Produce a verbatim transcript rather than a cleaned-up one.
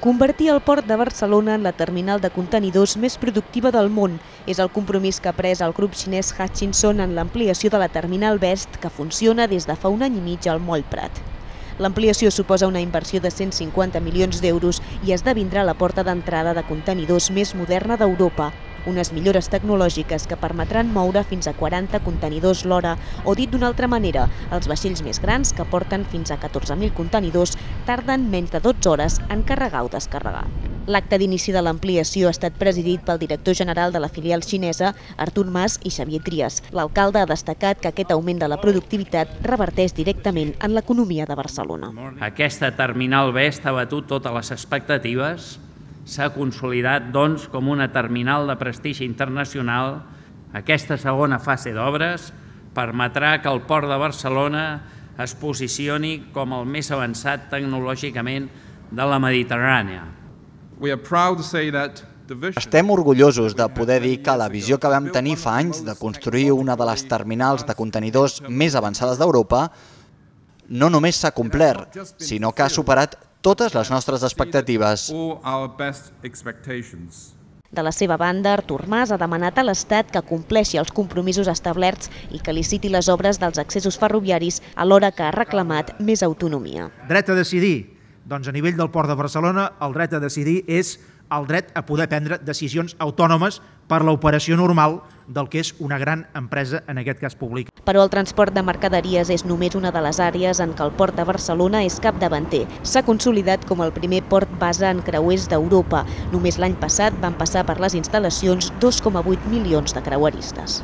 Convertir el port de Barcelona en la terminal de contenidors més productiva del món és el compromís que ha pres el grup xinès Hutchison en l'ampliació de la terminal West, que funciona des de fa un any i mig al Moll Prat. L'ampliació suposa una inversió de cent cinquanta milions d'euros i esdevindrà la porta d'entrada de contenidors més moderna d'Europa, unes millores tecnològiques que permetran moure fins a quaranta contenidors l'hora, o dit d'una altra manera, els vaixells més grans, que porten fins a catorze mil contenidors, tarden menys de dotze hores en carregar o descarregar. L'acte d'inici de l'ampliació ha estat presidit pel director general de la filial xinesa, Artur Mas i Xavier Trias. L'alcalde ha destacat que aquest augment de la productivitat reverteix directament en l'economia de Barcelona. Aquesta terminal West ha batut totes les expectatives, s'ha consolidat doncs com una terminal de prestigi internacional. Aquesta segona fase d'obres permetrà que el port de Barcelona es posicioni com el més avançat tecnològicament de la Mediterrània. Estem orgullosos de poder dir que la visió que vam tenir fa anys de construir una de les terminals de contenidors més avançades d'Europa no només s'ha complert, sinó que ha superat totes les nostres expectatives. De la seva banda, Artur Mas ha demanat a l'Estat que compleixi els compromisos establerts i que liciti les obres dels accessos ferroviaris, alhora que ha reclamat més autonomia. Dret a decidir. Doncs a nivell del Port de Barcelona, el dret a decidir és el dret a poder prendre decisions autònomes per l'operació normal del que és una gran empresa, en aquest cas pública. Però el transport de mercaderies és només una de les àrees en què el Port de Barcelona és capdavanter. S'ha consolidat com el primer port base en creuers d'Europa. Només l'any passat van passar per les instal·lacions dos coma vuit milions de creueristes.